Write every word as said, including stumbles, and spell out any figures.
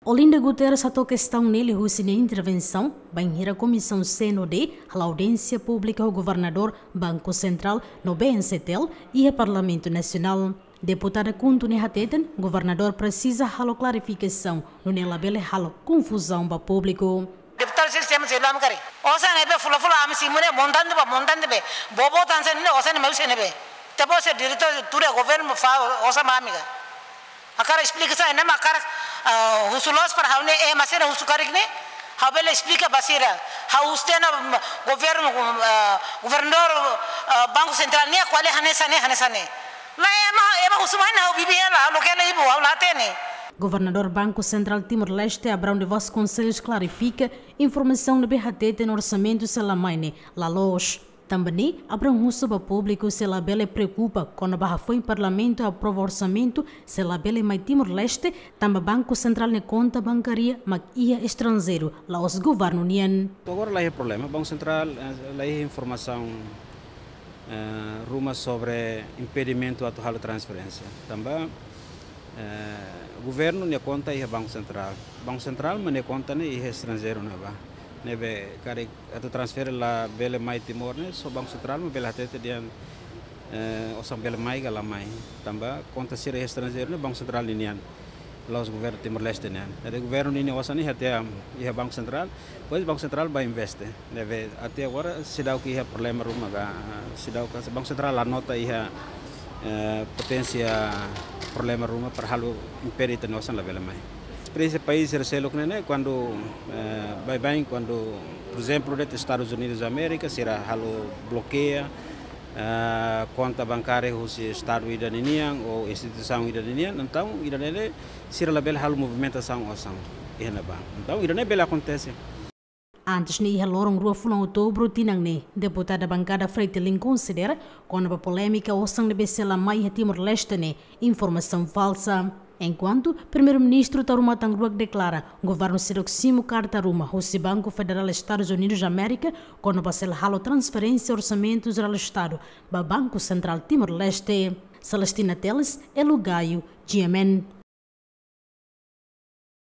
Olinda Guterres hato'o kestaun ne'e liuhusi nia intervensaun bainhira Komisaun C N O D hala'o audiénsia públika ho Governadór Banku Sentrál no B N C T L iha Parlamentu Nasionál. Deputada KHUNTO ne'e hateten, governadór presiza halo klarifikasaun, nune'e labele halo konfuzaun ba públiku. Deputadu sira sema sira lam kari. Osan ne'ebé fula-fula ami simu ne'e montante ba montante be. Bobo tan sen ne'e osan ne'e maiu sen ne'ebé. Tebo se direitu tuir governu fó osan ba ami ka. Hakarak esplikasaun ne'e mak hakarak, ah, husu loos para ha'u ne'e, eh, ema sira husu karik ne'e. Ha'u bele esplika ba sira. Ha'u husu tiha ona, mm, governu, ah, governadór, ah, Banku Sentrál nian kuali hanesan ne'e, hanesan ne'e. Lae, ema, ema husu mai ona ha'u bibi hela, loke hela ibu, ha'u la hatene. Governadór Banku Sentrál Timor-Leste, Abrão de Vasconcelos, klarifika informasaun ne'ebé hateten orsamentu sei la mai ne'e la loos. Tanba ne'e, Abrão husu ba públiku sei labele preokupa kona-ba hafoin Parlamentu aprova orsamentu sei labele mai Timor-Leste, tanba Banku Sentrál nia konta bankária mak iha estranjeiru, la'ós governu nian. Agora la iha problema, Banku Sentrál, eh, la iha informasaun, eh, ruma sobre impedimentu atu halo transferénsia. Tanba, eh, governu nia konta iha Banku Sentrál. Banku Sentrál mak nia konta ne'e iha estranjeiru ne'ebá. Ne'ebé karik atu transfere labele mai Timor ne'e, só Banku Sentrál mak bele hatete dehan, eh, osan bele mai ka la mai. Tanba konta sira iha estranjeiru ne'e Banku Sentrál ninian. La'ós governu Timor-Leste nian. Jadi governu ninia osan ne'e iha tiha iha Banku Sentrál, depois Banku Sentrál bá investe. Ne'ebé até agora seidauk iha problema ruma ka, seidauk Banku Sentrál la nota iha, eh, poténsia problema ruma para halo impede ita-nia osan labele mai. Esperiénsia país sira seluk ne'e, ne'e, kuandu, eh, baibain, kuandu, por ezemplu, de'it Estadus Unidus Amérika, sira halo blokeia, eh, konta bankária husi estadu ida ninian ou instituisaun ida ninian, entaun ida-ne'e sira labele halo movimentasaun osan iha ne'ebá. Entaun ida-ne'e bele akontese. Antes ne'e, iha loron rua fulan Outubru tinan ne'e, deputada bankada FRETILIN konsidera kona-ba polémika osan ne'ebé sei la mai iha Timor-Leste ne'e informasaun falsa. Enkuantu Primeiru-Ministru Taur Matan Ruak deklara, governu seidauk simu karta ruma husi Banku Federál Estadus Unidus Amérika kona-ba sei la halo transferénsia orsamentu jerál Estadu ba Banku Sentrál Timor-Leste. Celestina Teles, Elo Gaio, G M N.